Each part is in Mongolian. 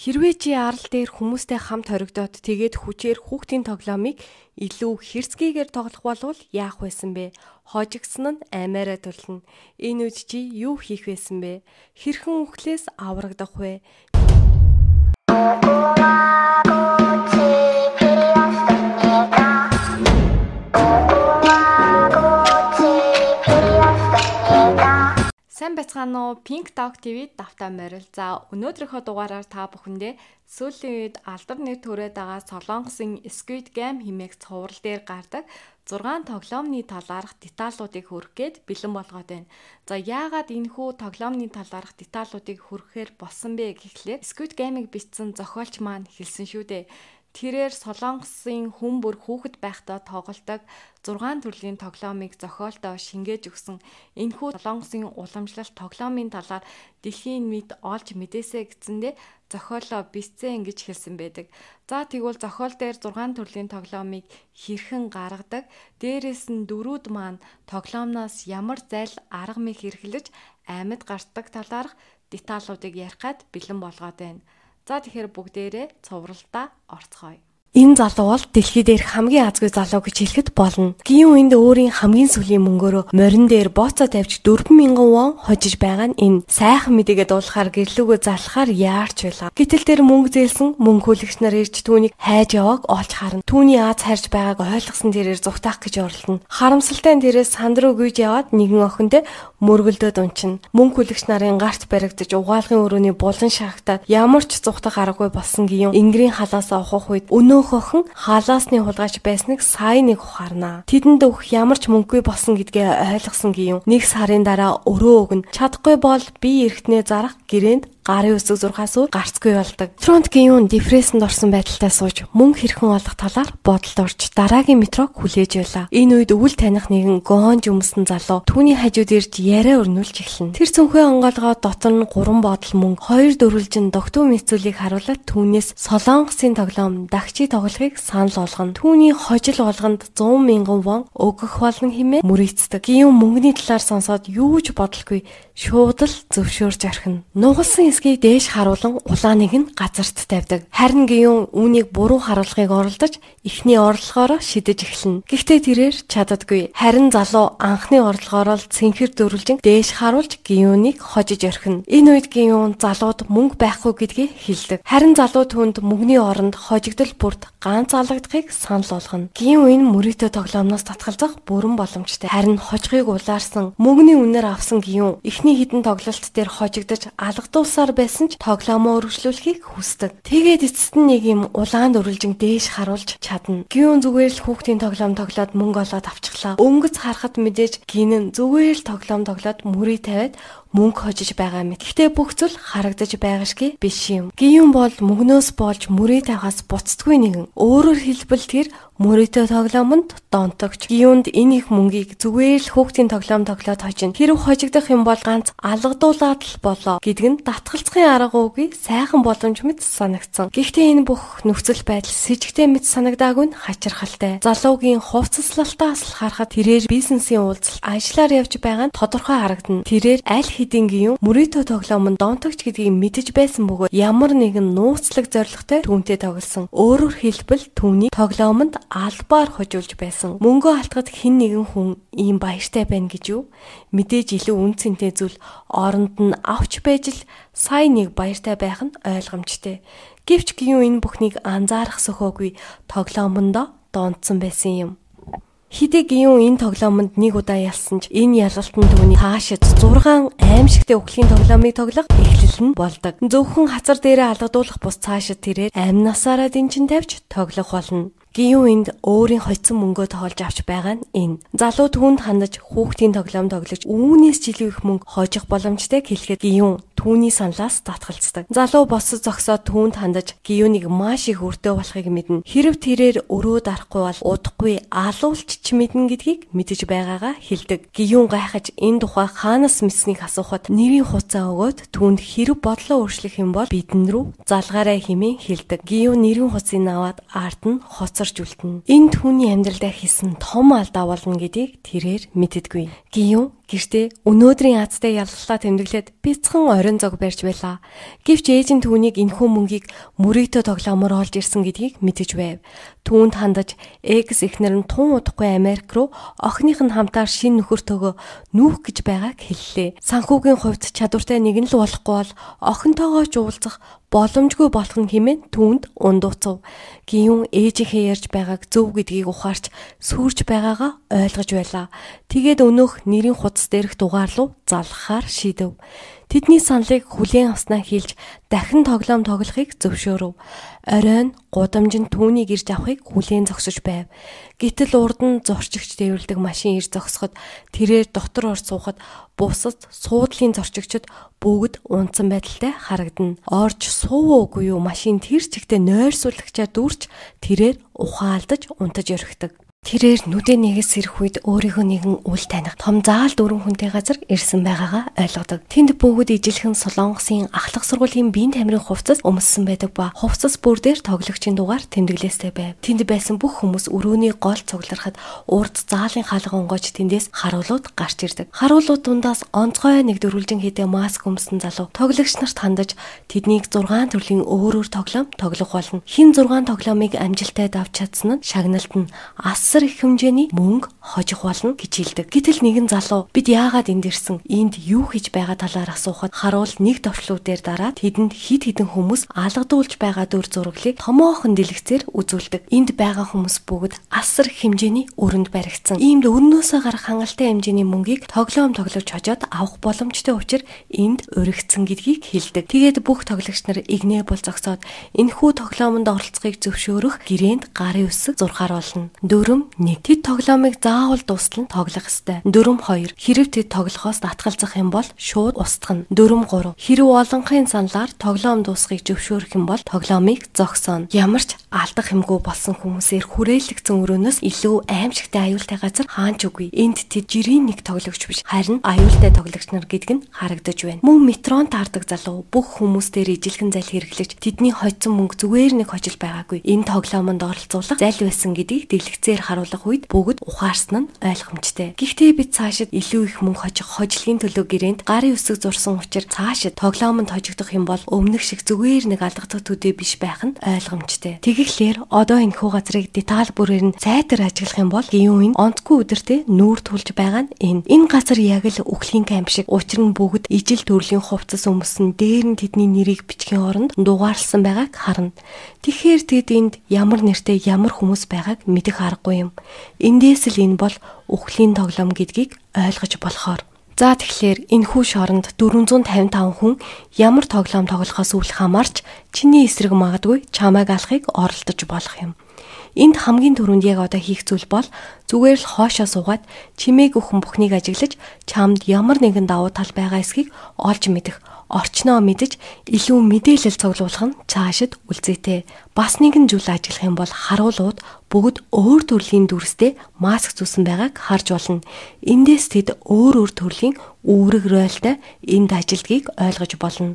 Хэрвээ чи арал дээр хүмүүстэй хамт хоригдоод тэгээд хүчээр хүүхдийн тоглоомыг илүү хэрцгийгээр тоглох болвол яах байсан бэ? Хожигдсон нь аймаараа тулна. Энэ үед чи юу хийх байсан бэ? Хэрхэн үхлээс аврагдах вэ? Сайн байцгаана уу? Pink Dog TV давтаа морил. За өнөөдрийнхөө дугаараар та бүхэндээ сүүлийн үед алдар нэр төрөөд байгаа Солонгосын Squid Game хэмээх цуврал дээр гардаг 6 тоглоомны талаарх деталлуудыг хүргэх гээд бэлэн болгоод байна. За яагаад энэхүү тоглоомны талаарх деталлуудыг хүргэхээр болсон бэ гэхлээр Squid Game-ыг бичсэн зохиолч маань хэлсэн шүү дээ. Тэрээр Солонгосын хүн бүр хүүхэд байхдаа тоглодог 6 төрлийн тоглоомыг зохиолдоо шингээж өгсөн. Энэхүү Солонгосын уламжлалт тоглоомын талаар дэлхийн мэд олж мэдээсэй гэцэндээ зохиолоо бичсэн гэж хэлсэн байдаг. За тэгвэл зохиол дээр 6 төрлийн тоглоомыг хэрхэн гаргадаг, дээрээс нь дөрүүд маань тоглоомноос ямар зайл арга мэх хэрэглэж амьд гардаг талаарх деталлуудыг ярих гээд бэлэн болгоод байна. За тэгэхээр бүгдээрээ цувралдаа орцгоё. Энэ залуу бол дэлхий дээрх хамгийн азгүй залуу гэж хэлэхэд болно. Гин үнд өөрийн хамгийн сүүлийн мөнгөөрөө морин дээр бооцоо тавьж 4,000 вон хожиж байгаа нь энэ. Сайхан мэдээгээ дуулахаар гэрлүүгөө залхахаар яарч байлаа. Гэтэл тэр мөнгө зээлсэн мөнгө хүлэгч нар ирж түүнийг хайж явааг олж харна. Түүний аз хайрж байгааг ойлгосон тэрээр зүгтаах гэж оролдоно. Харамсалтай нь тэрээс санд руу гүйж яваад нэгэн охиндөө мөргөлдөд унчина. Мөнгө хүлэгч нарын гарт баригдаж угаалгын өрөөний булан шахагтаад ямар ч зүгтах аргагүй болсон гин Ингрийн халаас авах үед өнөөх охин халаасны хулгайч байсныг сайн нэг ухаарнаа. Тэдэнд өгөх ямар ч мөнгөгүй болсон гэдгээ ойлгосон гин нэг сарын дараа өрөө өгнө. Чадахгүй бол би эргэтнээ зарах гэрээнд гарын үсэг зурхаас өөр гарцгүй болдог. Фронт гин депрессэнд орсон байдалтай сууж мөнгө хэрхэн олох талаар бодолд орж дараагийн метрог хүлээж байлаа. Энэ үед өвөл таних нэгэн гонж өмсөн залуу түүний хажууд ирж яриа өрнүүлж эхэлнэ. Тэр цөнхөө онгоолгоо дотор нь 3 бодол мөнгө 2 дөрвөлжин догтуу мэдсүүлийг харуулад түүнээс Солонгосын тоглоом дагчи тоглохыг санал болгоно. Түүний хожил болгонд 100,000 вон өгөх болно хэмээн мөрийцдэг. Гин мөнгөний талаар сонсоод юу ч бодолгүй шууд л зөвшөөрж орхино. Нугалсан эсгийг дээш харуулan улааныг нь газарт тавьдаг. Харин гин үүнийг буруу харуулгыг оролдож эхний орлогоороо шидэж эхэлнэ. Гэхдээ тэрээр чаддаггүй. Харин залуу анхны орлогоороо цэнхэр дөрвөлжин дээш харуулж гинүнийг хожиж орхино. Энэ үед гин залууд мөнгө байхгүй гэдгийг хэлдэг. Харин залуу түүнд мөнгөний оронд хожигдол бүрт ганц алгадахыг санал болгоно. Гин энэ мөрөөдөө тоглоомноос татгалзах бүрэн боломжтой. Харин хожихыг улаарсан мөнгөний үнээр авсан гин эхний хідэн тоглолт дээр хожигдож алгадуулсаар байсан ч тоглоомоо өргөжлүүлэхийг хүсдэг. Тэгээд эцэст нь нэг юм улаанд өрөлжин дээш харуулж чадна. Гин зүгээр л хүүхдийн тоглоом тоглоод мөнгө олоод авчихлаа. Өнгөц харахад мэдээж гин зүгээр л тоглоом тоглоод мөрий тавиад мөнгө хожиж байгаа мэт. Гэхдээ бүх зүйл харагдаж байгаа шигэ биш юм. Гин бол мөнгнөөс болж мөрий тавихаас буцдаггүй нэгэн. Өөрөөр хэлбэл тэр мөрөөдөө тоглоомонд донтогч. Гиюнд энэ их мөнгийг зүгээр л хүүхдийн тоглоом тоглоод хожино. Хэрв хожигдох юм бол ганц алгадуулаад л болоо гэдэг нь татгалзахын арга уугүй сайхан боломж мэт санагдсан. Гэхдээ энэ бүх нөхцөл байдал с ิจ гтэй мэт санагдаагүй нь хачирхалтай. Залуугийн хувцаслалтаас л харахад тэрээр бизнесийн уулзалт ажиллаар явж байгаа нь тодорхой харагдана. Тэрээр аль хэдийн гин мөрөөдөө тоглоомонд донтогч гэдгийг мэдэж байсан бөгөөд ямар нэгэн нууцлаг зорилготой түүнтэй тоглосон. Өөрөөр хэлбэл түүний тоглоомонд албаар хожуулж байсан. Мөнгөө алтгад хэн нэгэн хүн ийм баяртай байна гэж юу? Мэдээж илүү үн цэнтэй зүйл оронд нь авч байж л сайн нэг баяртай байх нь ойлгомжтой. Гэвч гин энэ бүхнийг анзаарах сөхөөгүй тоглоомондоо донтсон байсан юм. Хидэ гин энэ тоглоомонд нэг удаа ялсан ч энэ ялалтанд түүний таашид 6 аимшигтэй өхлийн тоглоомыг тоглох эхлэл нь болдог. Зөвхөн хацар дээрээ алгадуулах бус цаашид тэрээр амнасаараа дэнчин тавьж тоглох болно. Гин энд өөрийн хоцсон мөнгөө тоолж авч байгаа нь энэ. Залуу түүнд хандаж хүүхдийн тоглоом тоглож үүнээс ч илүү их мөнгө хожих боломжтой хэлэхэд гин түүний саналаас татгалздаг. Залуу босс зогсоод түүнд хандаж гиюнийг маш их өртөө болохыг мэднэ. Хэрв тэрээр өрөө дарахгүй бол удахгүй алуулч ч мэднэ гэдгийг мэдэж байгаагаа хэлдэг. Гиюн гайхаж энэ тухай хаанаас мэдсэнийг асуухад нэрийн хуцаа өгөөд түүнд хэрв бодлоо өөрчлөх юм бол бидэн рүү залгаарай хэмээн хэлдэг. Гиюн нэрийн хуцыг аваад ард нь хоцорч үлдэнэ. Энэ түүний амьдралдаа хийсэн том алдаа болно гэдгийг тэрээр мэддэггүй. Гиюн Гэртээ өнөөдрийн азтай ялгалаа тэмдэглээд бяцхан орон зог барьж байлаа. Гэвч ээж нь түүнийг энэхүү мөнгийг мөрөөдөө тоглоомоор олж ирсэн гэдгийг мэдэж байв. Түүнд хандаж экс эхнэр нь тун удахгүй Америк руу охиных нь хамтаар шинэ нөхөртөөгөө нүүх гэж байгааг хэллээ. Санхүүгийн хувьд чадвартай нэгэн л болохгүй бол охинтойгоо ч уулзах боломжгүй болох нь хэмээн түүнд ундууцав. Гиюн ээжийнхээ ярьж байгааг зөв гэдгийг ухаарч сүрж байгаагаа ойлгож байлаа. Тэгээд өнөөх нэрийн хуудас дээрх дугаар руу залгахаар шийдэв. Тэдний саналыг хүлээн авснаа хэлж дахин тоглоом тоглохыг зөвшөөрөв. Оройн гудамж нь түүнийг ирж авахыг хүлээн зогсож байв. Гэтэл урд нь зорчигч дэврэлдэг машин ирж зогсоход тэрээр дотор орж суухад бусад суудлын зорчигчид бүгд унтсан байдалтай харагдана. Орж суугүй юу машин тэр чигтээ нойрсуулагчаа дүрч тэрээр ухаалдаж унтаж орхидог. Тэрээр нүдэ нэгээс сэрэх үед өөрийнхөө нэгэн үл таних том заал дөрвөн хүнтэй газар ирсэн байгаагаа ойлгодог. Тэнд бүгд ижилхэн Солонгосын ахлах сургуулийн биеийн тамирын хувцас өмссөн байдаг ба хувцас бүр дээр тоглогчийн дугаар тэмдэглээстэй байв. Тэнд байсан бүх хүмүүс өрөөний гол цугларахад урд заалын хаалга онгойч тэндээс харуулууд гарч ирдэг. Харуулууд дундаас онцгой нэг дөрвөлжин хэдэ маск өмсөн залуу тоглогч нарт хандаж тэднийг 6 төрлийн өөр тоглоом тоглох болно. Хин 6 тоглоомыг амжилттай давж чадсан нь шагналт нь асар их хэмжээний мөнгө хожих болно гэж хэлдэг. Гэтэл нэгэн залуу бид яагаад энд ирсэн? Энд юу хийж байгаа талаар асуухад харуул нэг товчлуудээр дараад тэдэнд хид хідэн хүмүүс алгадуулж байгаа дүр зураглыг томоохон дэлгэцээр үзүүлдэг. Энд байгаа хүмүүс бүгд асар их хэмжээний өрөнд баригдсан. Иймд өрнөөсөө гарах хангалттай хэмжээний мөнгийг тоглоом тоглож хожоод авах боломжтой учраас энд өргөцсөн гэдгийг хэлдэг. Тэгээд бүх тоглогч нар игнэ бол зогсоод энэхүү тоглоомонд оролцохыг зөвшөөрөх гэрээнд гарын үсэг зурхаар болно. 1. Тэд тоглоомыг заавал дуустал нь тоглох ёстой. 4. Хэрэв тэд тоглохоос татгалзах юм бол шууд устгах нь. 4. Хэрэв олонхын саналаар тоглоом дуусхийг зөвшөөрөх юм бол тоглоомыг зогсооно. Ямар ч алдах юмгүй болсон хүмүүсээр хүрээлэгдсэн өрөөнөөс илүү аимшигтай аюултай газар хаанч үгүй. Энд тэд жирийн нэг тоглогч биш, харин аюултай тоглогч нар гэдг нь харагдаж байна. Мөн метрон таардаг залуу бүх хүмүүстээр ижилхэн зал хэрэглэж тэдний хоцсон мөнгө зүгээр нэг хожил байгаагүй. Энэ тоглоомонд оролцуулах зал байсан гэдгийг дэлгэцээр харуулах үед бүгд ухаарсан нь ойлгомжтой. Гэхдээ бид цаашид илүү их мөнгө хожих хожлын төлөө гэрээнд гарын үсэг зурсан учраас цаашид тоглоомонд хожигдох юм бол өмнөх шиг зүгээр нэг алгадах төдий биш байх нь ойлгомжтой. Тэгэхээр одоо энэхүү газрыг деталь бүрээр нь сайтар ажиглах юм бол гиюн онцгүй өдөртөө нүүр тулж байгаа нь энэ. Энэ газар яг л үхлийн камп шиг. Учир нь бүгд ижил төрлийн хувцас өмсөн дээр нь тэдний нэрийг бичгийн оронд дугаарлсан байгааг харна. Тэгэхээр тэд энд ямар нэртэй ямар хүмүүс байгааг мэдэх аргагүй юм. Эндээс л энэ бол үхлийн тоглоом гэдгийг ойлгож болохоор. За тэгэхээр энэхүү шоронд 455 хүн ямар тоглоом тоглохоос үл хамаарч чиний эсрэг магадгүй чамайг алахыг оролдож болох юм. Энд хамгийн түрүүнд яг одоо хийх зүйл бол зүгээр л хоошоо суугаад чимээг өхөн бүхнийг ажиглаж чамд ямар нэгэн давуу тал байгаа эсхийг олж мэдэх, орчноо мэдэж илүү мэдээлэл цуглуулах нь цаашид үлзээтэй. Бас нэгэн зүйл ажиглах юм бол харуулууд бүгд өөр төрлийн дүрстэй маск зүүсэн байгааг харж болно. Эндээс тэд өөр төрлийн үүрэг ройлтой энд ажилдгийг ойлгож болно.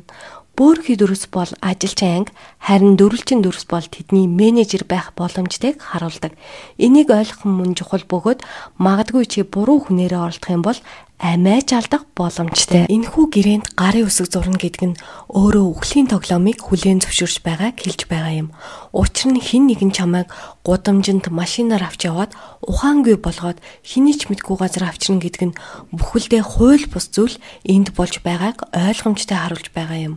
Бөөрхий дүрс бол ажилчин анги, харин дөрвөлжин дүрс бол тэдний менежер байх боломжтойг харуулдаг. Энийг ойлгох мөн чухал бөгөөд магадгүй чи буруу хүнээрээ оролдох юм бол амиаж алдах боломжтой. Энэхүү гэрээнд гарын үсэг зурна гэдэг нь өөрөө үхлийн тоглоомыг хүлээн зөвшөөрч байгааг хэлж байгаа юм. Учир нь хэн нэгэн чамайг гудамжинд машинаар авч яваад ухаангүй болгоод хэний ч мэдгүй газар авчирна гэдэг нь бүхэлдээ хууль бус зүйл энд болж байгааг ойлгомжтой харуулж байгаа юм.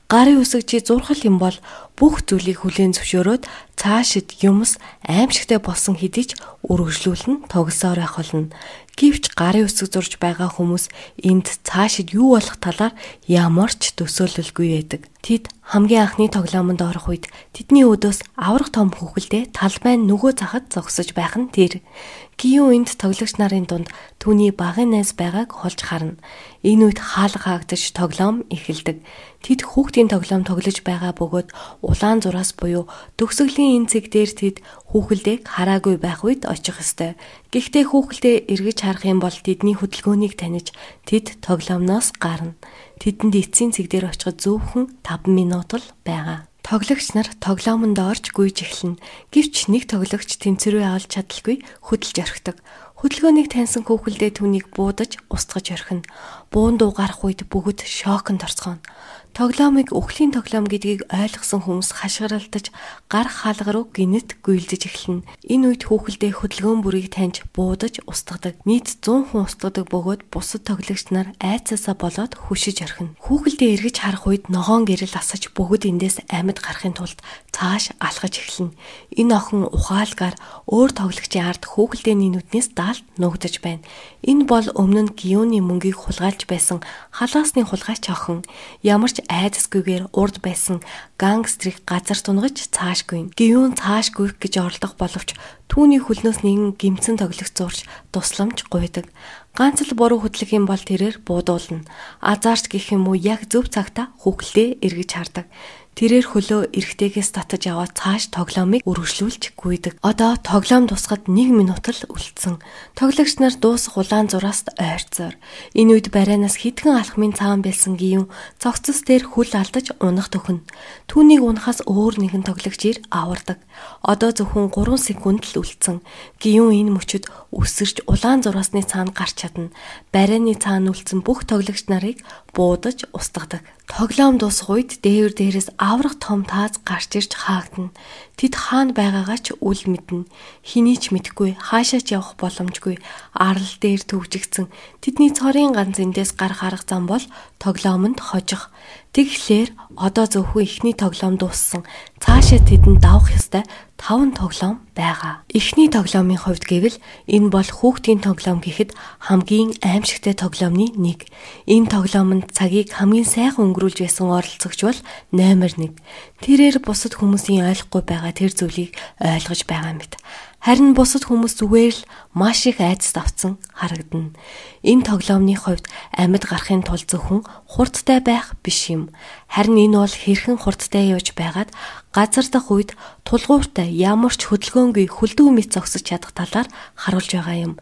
Гарын үсэг чи зурхал юм бол бүх зүйлийг хүлээн зөвшөөрөөд цаашид юмс аимшигтай болсон хэдий ч үргэлжлүүлэн тогсоор байх болно. Гэвч гарын үсэг зурж байгаа хүмүүс энд цаашид юу болох талаар ямар ч төсөөлөлгүй байдаг. Тэд хамгийн анхны тоглоомонд орох үед тэдний өдөөс аврах том хүүхэлдээ талбайн нөгөө захад зогсож байх нь тэр. Гиюн энд тоглогч нарын дунд түүний багын найз байгааг олж харна. Энэ үед хаалга хаагдаж тоглоом эхэлдэг. Тэд хүүхдийн тоглоом тоглож байгаа бөгөөд улаан зураас буюу төгсгөлийн энэ цэг дээр тэд хүүхэлдээг хараагүй байх үед очих ёстой. Гэхдээ хүүхэлдээ эргэж харах юм бол тэдний хөдөлгөөнийг таних тэд тоглоомноос гарна. Тэдэнд эцсийн цэг дээр очиход зөвхөн 5 минут л байгаа. Тоглогч нар тоглоомонд орж гүйж эхэлнэ. Гэвч нэг тоглогч тэнцвэрээ олж чадалгүй хөдөлж орхидог. Хөдөлгөөнийг таньсан хүүхэлдээ түүнийг буудаж, устгаж орхино. Буун дуу гарах үед бүгд шоконд орцгооно. Тоглоомыг үхлийн тоглоом гэдгийг ойлгосон хүмүүс хашгиралдаж гар хаалга руу гинэт гүйлдэж эхэлнэ. Энэ үед хүүхэлдээ хөдөлгөөн бүрийг таньж буудаж устгадаг. Нийт 100 хүн устгадаг бөгөөд бусад тоглогч нар айцаасаа болоод хүшиж орхино. Хүүхэлдээ эргэж харах үед ногоон гэрэл асаж бүгд эндээс амьд гарахын тулд цааш алхаж эхэлнэ. Энэ охин ухаалгаар өөр тоглогчийн ард хүүхэлдээний нүднээс даалт нуугдаж байна. Энэ бол өмнө нь Гиюны мөнгийг хулгайлж байсан халаасны хулгайч охин. Ямар ч айдасгүйгээр урд байсан гангстрийг газар тунгаж цааш гүйн. Гиюн цааш гүйх гэж оролдох боловч түүний хөлнөөс нэгэн гимцэн тоглох зурж тусламж гуйдаг. Ганц л буруу хөдлөх юм бол тэрээр буудуулна. Азарт гэх юм уу яг зөв цагта хүүхэлдээ эргэж хардаг. Тэрээр хөлөө эрэгтэйгээс татаж аваад цааш тоглоомыг үргэлжлүүлж гүйдэг. Одоо тоглоом тусахад 1 минут л үлдсэн. Тоглогч нар дуусах улаан зураас ойрцоор. Энэ үед барайнаас хитгэн алхмын цаан бэлсэн Гиюн цогцос дээр хөл алдаж унах төхнө. Түүнийг унахаас өөр нэгэн тоглогч ир авардаг. Одоо зөвхөн 3 секунд л үлдсэн. Гиюн энэ мөчөд өсөрч улаан зураасны цаана гарч чадна. Барайны цаана үлдсэн бүх тоглогч нарыг буудаж устгадаг. Тоглоом дуусах үед дээрээс аврах том тааз гарч ирж хаагдана. Тэд хаана байгаагаа ч үл мэднэ. Хэний ч мэдэхгүй, хаашаа ч явах боломжгүй. Арал дээр төвжигдсэн. Тэдний цорын ганц эндээс гарах арга зам бол тоглоомонд хожих. Тэгэхээр одоо зөвхөн эхний тоглоом дууссан. Цаашаа тэдэнд давах ёстой 5 тоглоом байгаа. Эхний тоглоомын хувьд гэвэл энэ бол хүүхдийн тоглоом гэхэд хамгийн аимшигтай тоглоомны нэг. Энэ тоглоомонд цагийг хамгийн сайхан өнгөрүүлж байсан оролцогч бол номер 1. Тэрээр бусад хүмүүсийн ойлгохгүй байгаа тэр зүйлийг ойлгож байгаа мэт. Харин бусад хүмүүс зүгээр л маш их айдас авцсан харагдана. Энэ тоглоомны хувьд амьд гарахын тулд зөвхөн хурдтай байх биш юм. Харин энэ бол хэрхэн хурдтай явж байгаад газар дах үед тулгууртай ямар ч хөдөлгөөнгүй хөлдөө мэт зогсож чадах талаар харуулж байгаа юм.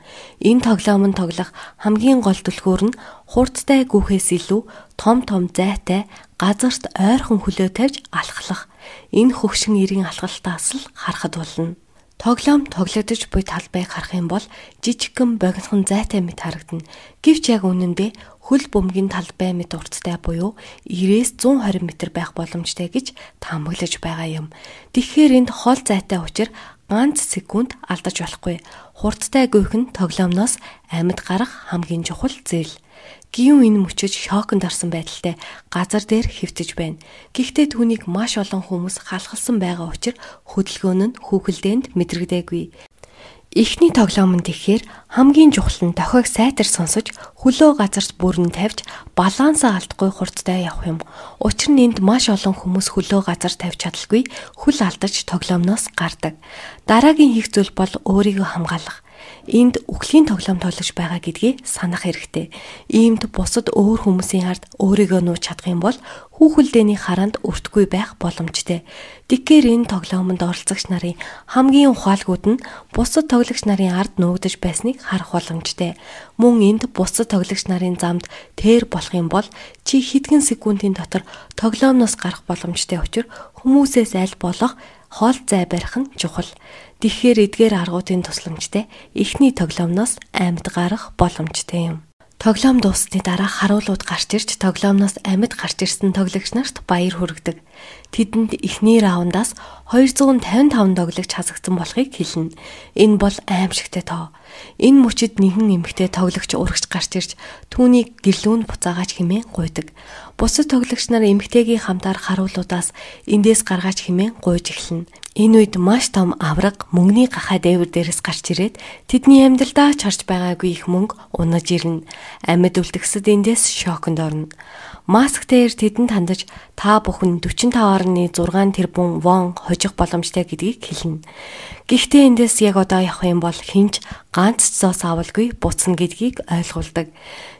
Энэ тоглоомын тоглох хамгийн гол түлхүүр нь хурдтай гүөхээс илүү том зайтай газарт ойрхон хөлөө тавьж алхах. Энэ хөгшин эрийн алхалтаас л харахад болно. Тоглоом тоглогдож буй талбайг харах юм бол жижигхэн богинохон зайтай мэт харагдана. Гэвч яг үнэндээ хөл бөмбөгийн талбай мэт урттай буюу 90-120 м байх боломжтой гэж таамаглаж байгаа юм. Тэгэхээр энд хол зайтай учраа ганц секунд алдаж болохгүй. Хурдтай гүйх нь тоглоомноос амьд гарах хамгийн чухал зүйл. Гиюн энэ мөчөж шоконд орсон байдалтай газар дээр хэвтэж байна. Гэхдээ түүнийг маш олон хүмүүс халахалсан байгаа учраас хөдөлгөөн нь хүүхэлдээнд мэдрэгдээгүй. Эхний тоглоомонд тэгэхээр хамгийн чухал нь дохиог сайтар сонсож, хөлөө газарт бүрэн тавьж, балансаа алдахгүй хурдтай явах юм. Учир нь энд маш олон хүмүүс хөлөө газар тавьж чадалгүй, хөл алдаж тоглоомноос гардаг. Дараагийн хийх зүйл бол өөрийгөө хамгаалах. Энд үхлийн тоглоом тоглож байгаа гэдгийг санах хэрэгтэй. Иймд бусад өөр хүмүүсийн ард өөрийгөө нууж чадах юм бол хүүхэлдээний хараанд өртгүй байх боломжтой. Тэгэхээр энэ тоглоомонд оролцогч нарын хамгийн ухаалгууд нь бусад тоглогч нарын ард нуугдаж байсныг харах боломжтой. Мөн энд бусад тоглогч нарын замд тэр болох юм бол чи хэдхэн секундын дотор тоглоомноос гарах боломжтой учраас хүмүүсээс аль болох хоол зай барих нь чухал. Тэгэхээр эдгээр аргуудын тусламжтай эхний тоглоомноос амьд гарах боломжтой юм. Тоглоом дуусны дараа харуулууд гарч ирж тоглоомноос амьд гарч ирсэн тоглогч нарт баяр хүргэдэг. Тэдэнд эхний раундаас 255 тоглогч хасагдсан болохыг хэлнэ. Энэ бол аимшигтай тоо. Энэ мөчид нэгэн эмэгтэй тоглогч урагч гарч ирж түүнийг гэрлүүнд буцаагач хэмээн гуйдаг. Бусад тоглогч нар эмэгтэйгийн хамтаар харуулуудаас эндээс гаргаач хэмээн гуйж эхэлнэ. Энэ үед маш том авраг мөнгөний гахаа дээвэр дээрээс гарч ирээд тэдний амьдралдаа ч харж байгаагүй их мөнгө унаж ирнэ. Амьд үлдгэсэд эндээс шоконд орно. Масктээр тэдэнд хандаж та бүхэн 45.6 тэрбум вон хожих боломжтой гэдгийг хэлнэ. Гэхдээ эндээс яг одоо явах юм бол хинч ганц ч зоос авалгүй буцна гэдгийг ойлгуулдаг.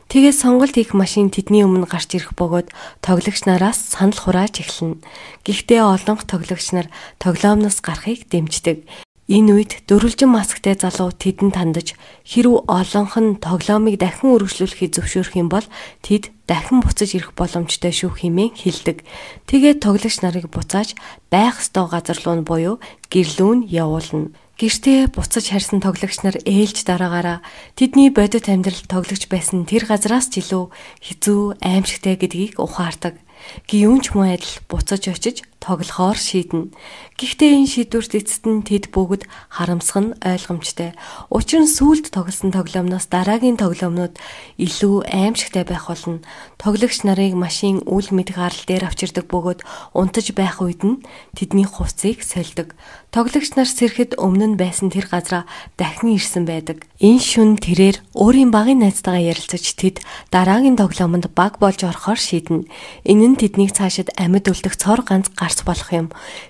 Тэгээд сонголт хийх машин тэдний өмнө гарч ирэх бөгөөд тоглогч нараас санал хурааж эхэлнэ. Гэхдээ олон тоглогч нар тоглоомноос гарахыг дэмждэг. Энэ үед дөрвөлжин масктай залуу тэдэнд хандаж хэрв олонх нь тоглоомыг дахин үргэлжлүүлэхийг зөвшөөрөх юм бол тэд дахин буцаж ирэх боломжтой шүү хэмээн хэлдэг. Тэгээд тоглогч нарыг буцааж байх ёстой газар руу буюу гэрлүүн явуулна. Гэртээ буцаж харьсан тоглогч нар ээлж дараагаараа тэдний бодит амьдрал тоглож байсан тэр газраас ч илүү хэцүү, аимшигтай гэдгийг ухаардаг. Гэвч мөн адил буцаж очиж тоглохоор шийднэ. Гэхдээ энэ шийдвэрт эцэст нь тэд бүгд харамсах нь ойлгомжтой. Учир нь сүүлд тоглосон тоглоомноос дараагийн тоглоомнууд илүү аимшигтай байх болно. Тоглогч нарыг машин үл мэд гарал дээр авчирдаг бөгөөд унтаж байх үед нь тэдний хувцсыг сольдог. Тоглогч нар сэрэхэд өмнө нь байсан тэр газараа дахин ирсэн байдаг. Энэ шүн тэрээр өөрийн багын найзтайгаа ярилцаж тэд дараагийн тоглоомонд баг болж орохоор шийднэ. Энэ нь тэднийг цаашид амьд үлдэх цор ганц гарц болох юм.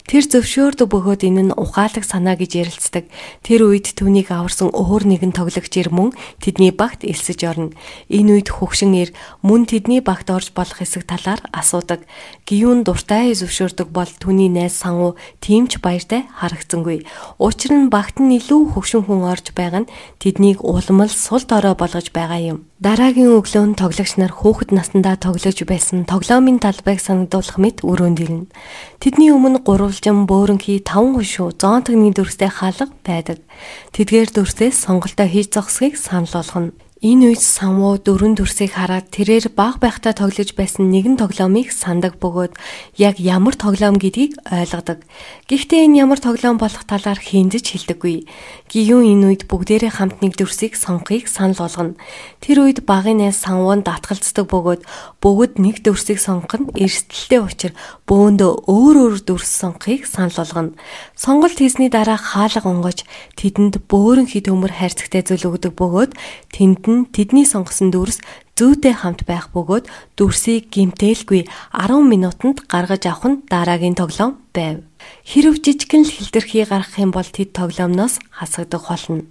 Тэр зөвшөөрдөг бөгөөд энэ нь ухаалаг санаа гэж ярилцдаг. Тэр үед түүнийг аварсан өөр нэгэн тоглогч ир мөн тэдний багт элсэж орно. Энэ үед хөгшин ир мөн тэдний багт орж болох хэсэг талаар асуудаг. Гиюн дуртай зөвшөөрдөг бол түүний найз Сангу тиймч баяртай харагдсангүй. Учир нь багт нь илүү хөгшин хүн орж байгаа нь тэднийг уламл сул дорой болгож байгаа юм. Дараагийн өглөө тоглогч нар хүүхэд насндаа тоглож байсан тоглоомын талбайг санагдуулах мэт өрөөнд ирнэ. Тэдний өмнө гурвалжин бөөрөнхий 5 хушуу зоонтогны дүрстэй хаалга байдаг. Тэдгээр дүрсээс сонголтоо хийж зогсхийг санал болгоно. Энэ үед Самуу дөрвөн дүрсийг хараад тэрээр баг байхдаа тоглож байсан нэгэн тоглоомыг сандаг бөгөөд яг ямар тоглоом гэдгийг ойлгодог. Гэхдээ энэ ямар тоглоом болох талаар хиндэж хэлдэггүй. Гиюн энэ үед бүгдээрээ хамт нэг дүрсийг сонгохыг санал болгоно. Тэр үед багын найз Самуунд татгалздаг бөгөөд бүгд нэг дүрсийг сонгох нь эрсдэлтэй учир бөөндөө өөр дүрс сонгохыг санал болгоно. Сонголт хийсний дараа хаалга онгож тэдэнд бөөрөнхий төмөр хайрцагтай зүйл өгдөг бөгөөд тэнд тэдний сонгосон дүрс зүйтэй хамт байх бөгөөд дүрсийг гэмтээлгүй 10 минутанд гаргаж авах нь дараагийн тоглоом байв. Хэрв жижигхэн л хэлтэрхий гаргах юм бол тэд тоглоомноос хасагдах болно.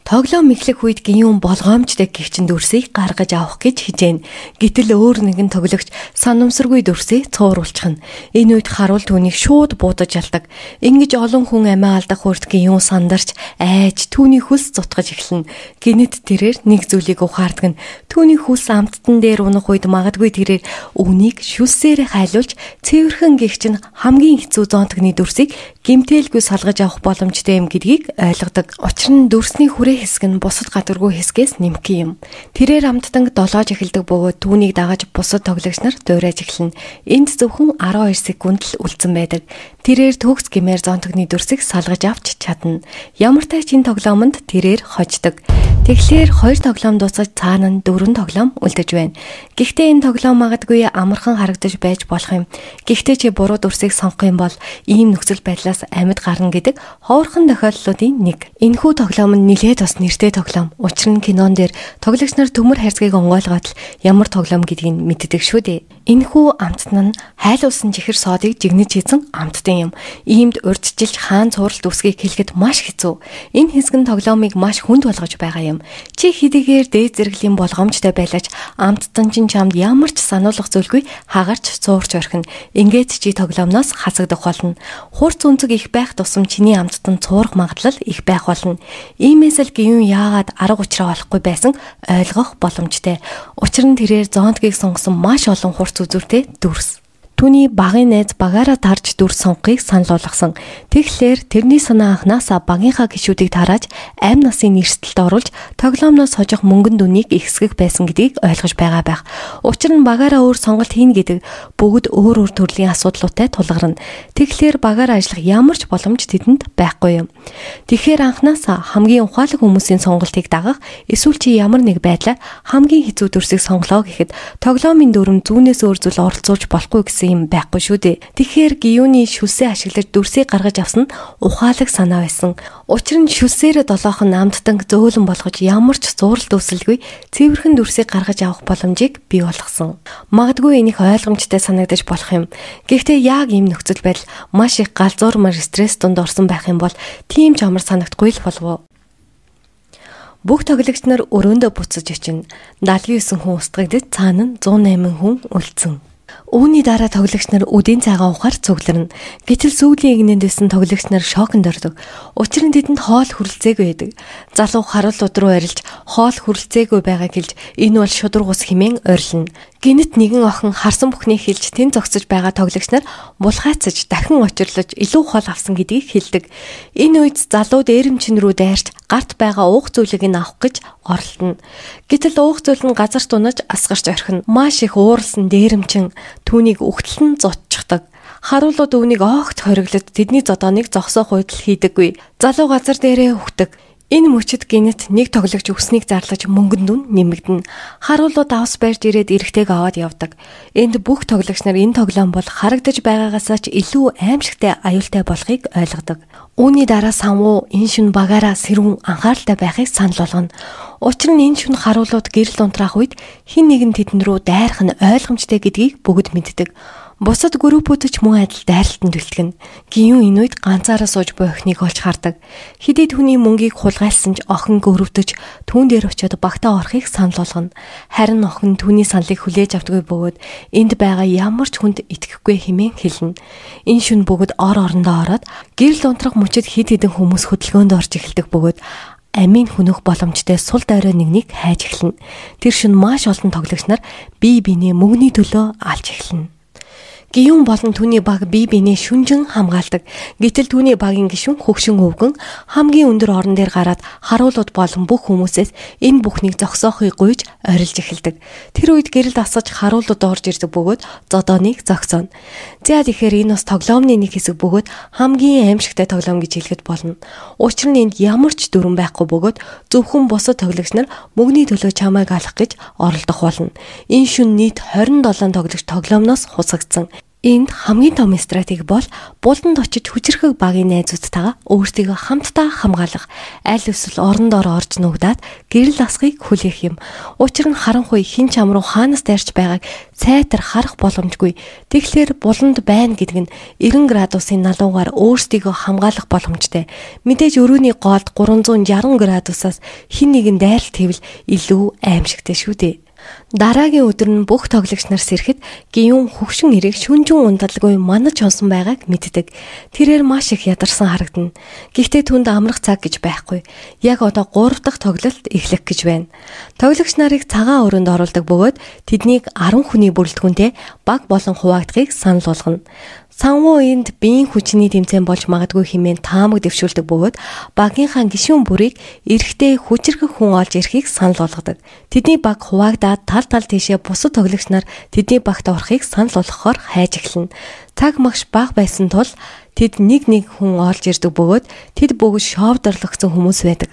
Тоглоом эхлэх үед Гиюн болгоомжтой гихчин дүрсийг гаргаж авах гэж хижээн. Гэтэл өөр нэгэн тоглогч санамсаргүй дүрсээ цууруулчихна. Энэ үед харуул түүнийг шууд буудаж алдаг. Ингэж олон хүн амиа алдах хүрт Гиюн сандарч айж түүний хөлс зутгаж эхэлнэ. Гинэт тэрээр нэг зүйлийг ухаардаг нь түүний хөлс амттан дээр унах үед магадгүй тэрээр үнийг шүлсээр хайлуулж цэвэрхэн гихчин хамгийн хэцүү зоонтогны дүрсийг гэмтээлгүй салгаж авах боломжтой юм гэдгийг ойлгодог. Учир нь дүрсний хүрээ хэсэг нь бусад гадаргүй хэсгээс нэмэх юм. Тэрээр амттан долоож эхэлдэг бөгөөд түүнийг дагаж бусад тоглогч нар дуурайж эхэлнэ. Энд зөвхөн 12 секунд л үлдсэн байдаг. Тэрээр төгс гэмээр зонтогны дүрсийг салгаж авч чадна. Ямар ч энэ тоглоомонд тэрээр хождог. Тэгэхээр 2 тоглоом дуусаж цаана нь 4 тоглоом үлдэж байна. Гэхдээ энэ тоглоом магадгүй амархан харагдаж байж болох юм. Гэхдээ чи буруу дүрсийг сонгох юм бол ийм нөхцөл байдлаас амьд гарна гэдэг ховорхон тохиолдлуудын нэг. Энэхүү тоглоом нь нэлээд бас нэртэй тоглоом. Учир нь кинон дээр тоглогч нар төмөр хайрцгийг онгойлгоод л ямар тоглоом гэдгийг мэддэг шүү дээ. Энэхүү амттан нь хайлуулсан чихэр соодыг жигнэж хийсэн амттан юм. Иймд урьдчилж хаан цувралт үсгийг хэлэхэд маш хэцүү. Энэ хэсэг нь тоглоомыг маш хүнд болгож байгаа юм. Чи хэдийгээр дээд зэрэглэлийн болгоомжтой байлаач амттан чинь чамд ямар ч сануулгах зүйлгүй хагарч цуурч орхино. Ингээд чи тоглоомноос хасагдах болно. Хурц үнцэг их байх тусам чиний амттан цуурах магадлал их байх болно. Иймээс л Гиюн яагаад арга учраа олохгүй байсан ойлгох боломжтой. Учир нь тэрээр зоонтгийг сонгосон маш олон хурц үзүүртэй дүрс. Түүний багын найз багаараа тарж дүрс сонгохыг санал болгосон. Тэгэхээр тэрний санаа анханасаа багийнхаа гишүүдийг тарааж амь насын эрсдэлд оруулж тоглоомноос хожих мөнгөн дүнийг ихсгэх байсан гэдгийг ойлгож байгаа байх. Учир нь багаараа өөр сонголт хийн гэдэг бүгд өөр төрлийн асуудлуудтай тулгарна. Тэгэхээр багаараа ажиллах ямар ч боломж тэдэнд байхгүй юм. Тэгэхээр анханасаа хамгийн ухаалаг хүмүүсийн сонголтыг дагах эсвэл чи ямар нэг байдлаар хамгийн хэцүү дүрсийг сонглоо гэхэд тоглоомын дүрм зүүнээс өөр зүйл оролцуулж болохгүй гэсэн юм байхгүй шүү дээ. Тэгэхээр Гиюны шүлсээ ашиглаж дүрсийг гаргаж авсан нь ухаалаг санаа байсан. Учир нь шүлсээрээ долоохон амттан зөөлөн болгож ямар ч зууралт үүсэлгүй цэвэрхэн дүрсийг гаргаж авах боломжийг бий болгосон. Магадгүй энийх ойлгомжтой санагдаж болох юм. Гэхдээ яг ийм нөхцөл байдал маш их галзуурмар стресс донд орсон байх юм бол тийм ч амар санагдахгүй л болов уу? Бүх тоглогч нар өрөөндөө буцаж очино. 79 хүн устгагдж цаана нь 108 хүн үлдсэн. Үүний дараа тоглогч нар үдийн цагаан ухаар цугларна. Гэтэл сүүлийн игнэнд байсан тоглогч нар шоконд ордог. Учир нь тэдэнд хоол хүрэлцээгүй байдаг. Залуу харуулууд руу арилж хоол хүрэлцээгүй байгаа гэлж энэ бол шудраг ус хэмээн ойрлно. Гинэт нэгэн охин харсан бүхнийг хэлж тэн зогсож байгаа тоглогч нар булхайцаж дахин очирлож илүү хол авсан гэдгийг хэлдэг. Энэ үед залуу дээрэмчин рүү дайрч гарт байгаа уух зүйлийг нь авах гэж оролдоно. Гэтэл уух зүйл нь газарт унаж асгарч орхино. Маш их ууралсан дээрэмчин түүнийг өгтлэн зодчихдаг. Харуулууд өвнийг огт хориглоод тэдний зодооныг зогсоох үйдэл хийдэггүй. Залуу газар дээрээ хөвтөг. Энэ мөчид гинэт нэг тоглогч өснийг зарлаж мөнгөнд нь нэмэгдэнэ. Харуулууд авс барьж ирээд эрэгтэйг аваад явдаг. Энд бүх тоглогч нар энэ тоглоом бол харагдаж байгаагаасаа ч илүү аимшигтай аюултай болохыг ойлгодог. Үүний дараа Санвуу энэ шүн багаараа сэрүүн анхааралтай байхыг санал болгоно. Учир нь энэ шүн харуулууд гэрэл унтраах үед хэн нэгэн тэдэн рүү дайрах нь ойлгомжтой гэдгийг бүгд мэддэг. Бусад группүүд ч мөн адил дайралтанд бэлтгэн. Гиюн энэ үед ганцаараа сууж буй охиныг олж хардаг. Хэдий түүний мөнгийг хулгайлсан ч охин гөрөвдөж түүн дээр очиод багтаа орохыг санал болгоно. Харин охин түүний саналыг хүлээж авдаггүй бөгөөд энд байгаа ямар ч хүнд итгэхгүй хэмээн хэлнэ. Энэ шүн бүгд орондоо ороод гэрэл унтрах мөчид хэд хэдэн хүмүүс хөдөлгөөнд орж эхэлдэг бөгөөд амийн хүнөх боломжтой сул дойроо нэгнийг хайж эхэлнэ. Тэр шүн маш олон тоглогч нар бие биенээ мөнгөний төлөө алж эхэлнэ. Гиюн болон түүний баг бие биенээ шүнжин хамгаалдаг. Гэтэл түүний багийн гишүүн хөгшин өвгөн хамгийн өндөр орон дээр гараад харуулууд болон бүх хүмүүсээс энэ бүхнийг зогсоохыг гуйж орилж эхэлдэг. Тэр үед гэрэл асгаж харуулууд орж ирдэг бөгөөд зодооныг зогсооно. За тэгэхээр энэ бас тоглоомны нэг хэсэг бөгөөд хамгийн аимшигтай тоглоом гэж хэлэхэд болно. Учир нь энд ямар ч дүрэн байхгүй бөгөөд зөвхөн бусад тоглогч нар мөнгөний төлөө чамайг алах гэж оролдох болно. Энэ шүн нийт 27 тоглогч тоглоомноос хусагдсан. Энд хамгийн том стратеги бол булданд очиж хүчрхэг багийн найзуудтайгаа өөртөө хамтдаа хамгаалах, аль эсвэл орондоор орж нуугдаад гэрэл асхыг хүлээх юм. Учир нь харанхуй хин чам руу хаанаас дайрч байгааг сайтар харах боломжгүй. Тэгэхээр буланд байна гэдэг нь 90 градусын налуугаар өөртөө хамгаалах боломжтой. Мэдээж өрөөний гоолд 360 градусаас хин нэгэн дайралт хэвэл илүү аимшигтай шүү дээ. Дараагийн өдөр нь бүх тоглогч нар сэрэхэд Гиюн хөгшин ирэх шүнжин ундалгүй манаж хонсон байгааг мэддэг. Тэрээр маш их ядарсан харагдана. Гэхдээ түнд амрах цаг гэж байхгүй. Яг одоо 3 дахь тоглолт эхлэх гэж байна. Тоглогч нарыг цагаан өрөөнд оруулдаг бөгөөд тэднийг 10 хүний бүрэлдэхүүнтэй баг болон хуваагдахыг санал болгоно. Санвуу энд биеийн хүчний тэмцээн болж магадгүй хэмээн таамаг дэвшүүлдэг бөгөөд багийнхаа гишүүн бүрийг эрэгтэй хүчрхэг хүн олж ирэхийг санал болгодог. Тэдний баг хуваагдаад тал тийшээ бусад тоглогч нар тэдний багт орохыг санал болгохоор хайж эхэлнэ. Цаг магш бага байсан тул тэд нэг хүн олж ирдэг бөгөөд тэд бүгд шовдорлогдсон хүмүүс байдаг.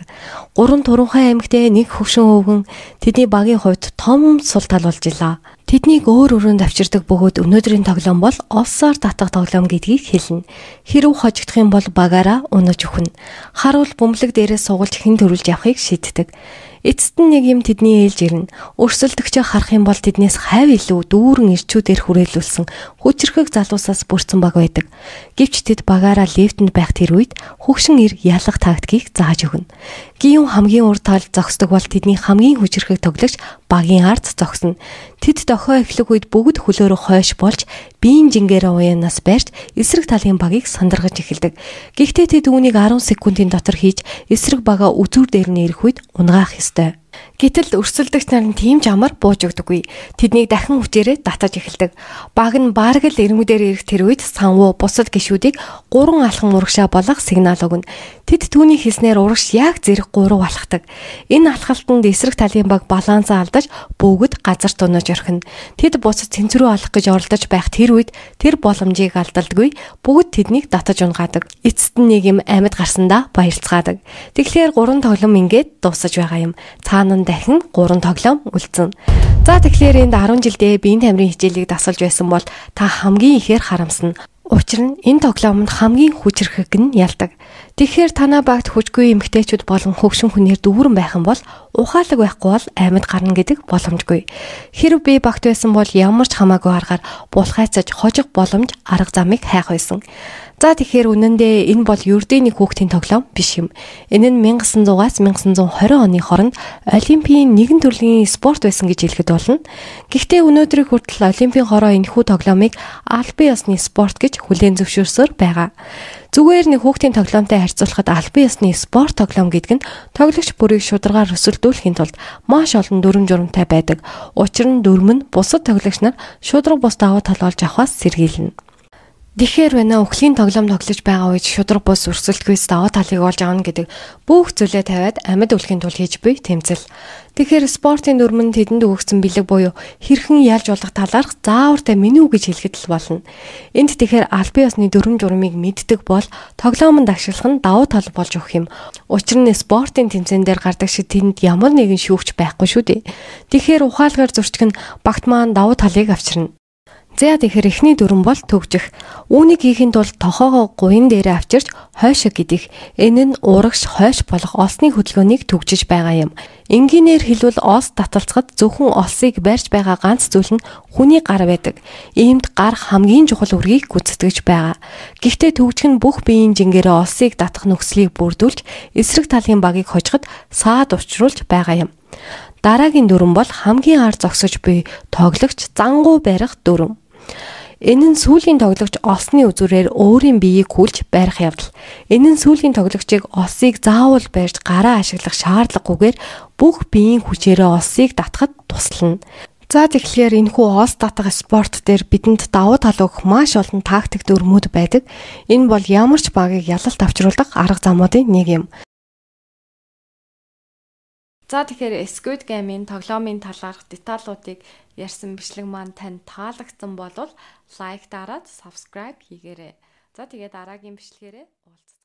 3 турхай аймагтай нэг хөвшин өвгөн тэдний багийн хувьд том сул тал болж илаа. Тэднийг өөр өрөөнд авчирдаг бөгөөд өнөөдрийн тоглоом бол олсоор татах тоглоом гэдгийг хэлнэ. Хэрв хожигдох юм бол багаараа унаж өхнө. Харуул бөмбөлөг дээрээ суугалж хэн төрүүлж явахыг шийддэг. Эцэст нь нэг юм тэдний ээлж ирнэ. Өрсөлдөгчөө харах юм бол тэднээс хавь илүү дүүрэн ирчүүдээр хүрээлүүлсэн хүчрхэг залуусаас бүрдсэн баг байдаг. Гэвч тэд багаараа лифтэнд байх тэр үед хөгшин ир ялах тактикийг зааж өгнө. Гиюн хамгийн урд талд зогсдог бол тэдний хамгийн хүчрхэг тоглогч багийн ард зогсно. Тэд дохио эхлэх үед бүгд хөлөөрөө хойш болж биеийн жингээрээ уяанаас барьж эсрэг талын багийг сандаргаж эхэлдэг. Гэхдээ тэд үүнийг 10 секундын дотор хийж эсрэг бага үзүүр дээр нь ирэх үед унгаах ёстой. Гэтэл өрсөлдөгч нар нь тийм ч амар бууж өгдөггүй. Тэднийг дахин хүчээрээ татаж эхэлдэг. Баг нь бараг л эрмүүдээр ирэх тэр үед Санвуу бусад гишүүдийг 3 алхан урагшаа болох сигнал өгнө. Тэд түүний хэлснээр урагш яг зэрэг 3 алхдаг. Энэ алхалтанд эсрэг талын баг балансаа алдаж бүгд газарт унаж орхино. Тэд бусад цэнцрүү алах гэж оролдож байх тэр үед тэр боломжийг алдалдаггүй. Бүгд тэднийг татаж унгаадаг. Эцэст нь нэг юм амьд гарсандаа баярлцгаадаг. Тэгэхээр 3 тоглоом ингээд дуусаж байгаа юм. Цаана дахин 3 тоглоом үлдсэн. За тэгэхээр энд 10 жилдээ биеийн тамирын хичээлийг дасгалж байсан бол та хамгийн ихээр харамсна. Учир нь энэ тоглоомд хамгийн хүчрхэг нь ялдаг. Тэгэхээр танаа багт хүчгүй эмэгтэйчүүд болон хөгшин хүнээр дүүрэн байх юм бол ухаалаг байхгүй бол амьд гарна гэдэг боломжгүй. Хэрв би багт байсан бол ямар ч хамаагүй аргаар булхайцаж хожих боломж арга замыг хайх байсан. За тэгэхээр үнэндээ энэ бол ердийн нэг хүүхдийн тоглоом биш юм. Энэ нь 1900-аас 1920 оны хооронд Олимпийн нэгэн төрлийн спорт байсан гэж хэлэхэд болно. Гэхдээ өнөөдрийн хүртэл Олимпийн хороо энэхүү тоглоомыг албан ёсны спорт гэж хүлээн зөвшөөрсөөр байгаа. Зүгээр нэг хүүхдийн тоглоомтой харьцуулахад албан ёсны спорт тоглоом гэдэг нь тоглогч бүрийг шударгаар өсөлдүүлэхийн тулд маш олон дүрм журамтай байдаг. Учир нь дүрм нь бусад тоглогч нар шударга бус давуу тал болж авахаас сэргийлнэ. Тэгэхээр байна өхлийн тоглоом тоглож байгаа үед шударга бус өрсөлдөхөөс даваа талыг олж авна гэдэг бүх зүйлээ тавиад амьд үлдэхийн тулд хийж буй тэмцэл. Тэгэхээр спортын дүрмэн тэдэнд өгөгдсөн бэлэг буюу хэрхэн ялж болох талаарх заавартай меню гэж хэлэхэд л болно. Энд тэгэхээр албан ёсны дүрм журмыг мэддэг бол тоглоомонд ашиглах нь давуу тал болж өгөх юм. Учир нь спортын тэмцээн дээр гардаг шиг тэнд ямар нэгэн шүүгч байхгүй шүү дээ. Тэгэхээр ухаалгаар зурчих нь багт маань давуу талыг авчирна. За тэгэхээр эхний дүрм бол төгжих. Үүнийг хийхин тулд тохоогоо гуйн дээрээ авчирч хойшоо гидэх. Энэ нь урагш хойш болох олсны хөдөлгөөнийг төгжиж байгаа юм. Энгийнээр хэлбэл олс таталцахад зөвхөн олсыг барьж байгаа ганц зүйл нь хүний гар байдаг. Иймд гар хамгийн чухал үргийг гүйцэтгэж байгаа. Гэхдээ төгжих нь бүх биеийн жингээрээ олсыг татах нөхцөлийг бүрдүүлж эсрэг талын багийг хожиход саад учруулж байгаа юм. Дараагийн дүрм бол хамгийн ар зогсож буй тоглогч зангуу барих дүрм. Энэ нь сүүлийн тоглогч олсны үзүүрээр өөрийн биеийг хүлж барих явдал. Энэ нь сүүлийн тоглогчийг олсыг заавал барьж гараа ашиглах шаардлагагүйгээр бүх биеийн хүчээрээ олсыг татахад туслана. За тэгэхээр энэхүү олс татах спорт дээр бидэнд давуу тал өгөх маш олон тактик дүрмүүд байдаг. Энэ бол ямар ч багийг ялалт авчруулах арга замуудын нэг юм. За тэгэхээр Squid Game-ийн тоглоомын талаарх деталуудыг ярьсан бичлэг маань танд таалагдсан бол лайк дараад subscribe хийгээрэй. За тэгээд дараагийн бичлэгээрээ уулзцгаая.